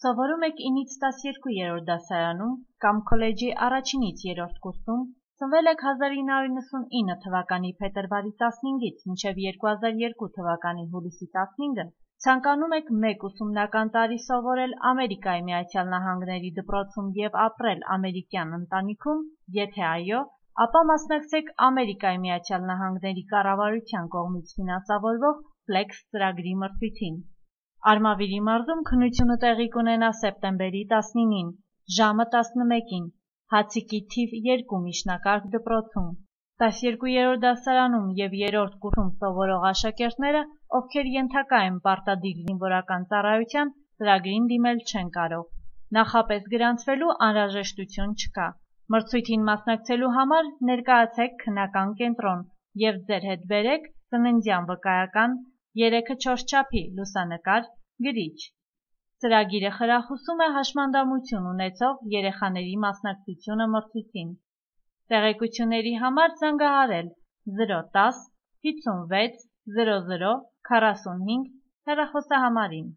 Սովորում եք 9-ից 12-րդ դասարանում կամ քոլեջի առաջինից 3-րդ կուրսում, ծնվել եք 1999 թվականի փետրվարի 15-ից մինչև 2002 թվականի հուլիսի 15-ը, ցանկանում եք 1 ուսումնական տարի սովորել Ամերիկայի Միացյալ Նահանգների դպրոցում և ապրել ամերիկյան ընտանիքում, եթե այո, ապա մասնակցեք Ամերիկայի Միացյալ Նահանգների կառավարության կողմից ֆինանսավորվող FLEX ծրագրի մրցույթին։ Արմավիրի մարզում քննությունը տեղի կունենա սեպտեմբերի 19-ին, ժամը 11-ին, Հացիկի թիվ 2 միջնակարգ դպրոցում։ 12-րդ դասարանում և 3-րդ կուրսում սովորող աշակերտները, ովքեր ենթակա են պարտադիր զինվորական ծառայության, ծրագրին դիմել չեն կարող։ Նախապես գրանցվելու անհրաժեշտություն չկա։ Մրցույթին մասնակցելու համար ներկայացեք քննական կենտրոն և ձեր հետ բերեք ծննդյան վկայական, 3/4 չափի լուսանկար, գրիչ։ Ծրագիրը խրախուսում է հաշմանդամություն ունեցող երեխաների մասնակցությունը մրցույթին։ Տեղեկությունների համար զանգահարել 010 56 00 45 հեռախոսահամարին։